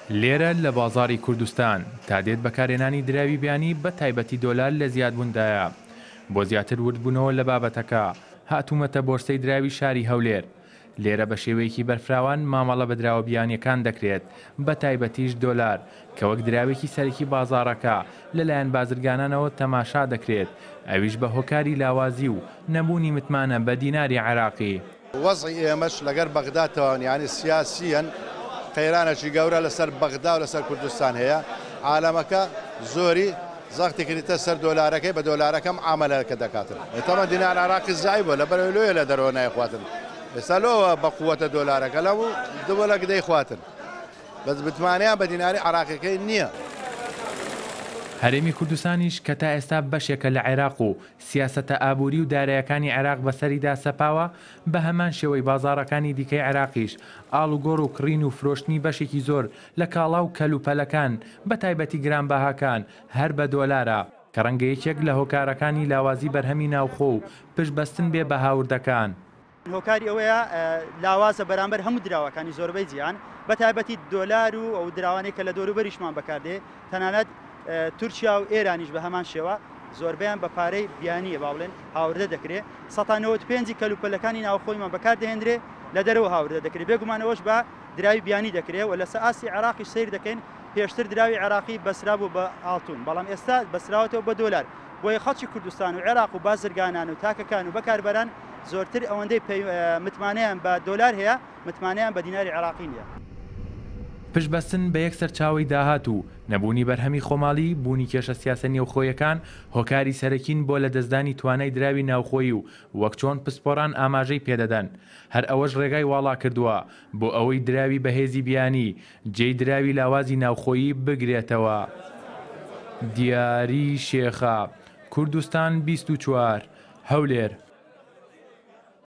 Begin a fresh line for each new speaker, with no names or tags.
لێرە لە بازاڕی کوردستان، تا دێت بەکارهێنانی دراوی بیانی بە تایبەتی دۆلار لە زیادبووندایە. بۆ زیاتر وردبوونەوە لە بابەتەکە، هاتوومەتە بۆرسەی دراوی شاری هەولێر. لێرە بە شێوەیەکی بەرفراوان مامەڵە بە دراوە بیانییەکان دەکرێت، بە تایبەتیش دۆلار، کە وەک دراوێکی سەرەکی بازاڕەکە لەلایەن بازرگانانەوە تەماشا دەکرێت، ئەویش بە هۆکاری لاوازی و نەبوونی متمانە بە دیناری عێراقی.
وەزعی ئێمەش لەگەر بەغدا تەواو نیە، یانی سیاسییەن قەیرانێکی گەورە لەسەر بەغدا و لەسەر کوردستان هەیە، عالەمەکە زۆری زەختی کردیتە سەر دۆلارەکەی، بە دۆلارەکە معامەلەکە دەکاتن. تەبعەن دینار عێراقی زەعیف بووە لەبەرئەوەی لۆیە لە دەرەوە نایخواتن، ئێستا لۆوە بە قووەتە دۆلارەکە لەو دووەلەک دەیخواتن، بەس متمانەیان بە دیناری عێراقیەکەی نیە.
هەرێمی کوردستانیش کە تا ئێستا بەشێکە لە عێراق و سیاسەتە ئابووری و دارایەکانی عێراق بەسەریدا سەپاوە، بە هەمان شێوەی بازاڕەکانی دیکەی عێراقیش، ئاڵوگۆڕ و کڕین و فرۆشتنی بەشێکی زۆر لە کاڵا و کەلوپەلەکان، بەتایبەتی گرانبەهاکان، هەر بە دۆلارە، کە ڕەنگە یەکێک لە هۆکارەکانی لاوازی بەرهەمی ناوخۆ و پشتبەستن بێ بە هاوردەکان.
هۆکاری ئەوەیە لاوازە بەرامبەر هەموو دراوەکانی زۆربەی جیهان بەتایبەتی دۆلار و ئەو دراوانەی کە لە دەوروبەریشمان بەکاردێ تەنانەت تورکیا و ئێرانیش بە هەمان شێوە زۆربەیان بە پارەی بیانیە با بڵێن هاوردە دەکرێ 95 کەلوپەلەکانی ناوخۆیمان بەکاردەهێنرێ لە دەرەوە هاوردە دەکرێ بێگومان ئەوەش بە دراوی بیانی دەکرێ و لەسە ئاستی عێراقیش سەیر دەکەین پێشتر دراوی عێراقی بەسرابوو بە ئاڵتون بەڵام ئێستا بەسراوەتەوە بە دۆلار بۆیە خەڵکی کوردستان و عێراق و بازرگانان و تاکەکان و بەکاربەران زۆرتر ئەوەندەی متمانەیان بە دۆلار هەیە متمانەیان بە دیناری عێراقی نییە.
پشتبەستن بە یەک سەرچاوەی داهات و نەبوونی بەرهەمی خۆماڵی، بوونی کێشە سیاسە نێوخۆیەکان هۆکاری سەرەکین بۆ لەدەستدانی توانای دراوی ناوخۆیی و وەک چۆن پسپۆران ئاماژەی پێدەدەن هەر ئەوەش ڕێگای واڵاکردووە بۆ ئەوەی دراوی بەهێزی بیانی جێی دراوی لاوازی ناوخۆیی بگرێتەوە. دیاری شێخە، کوردستان 24، هەولێر.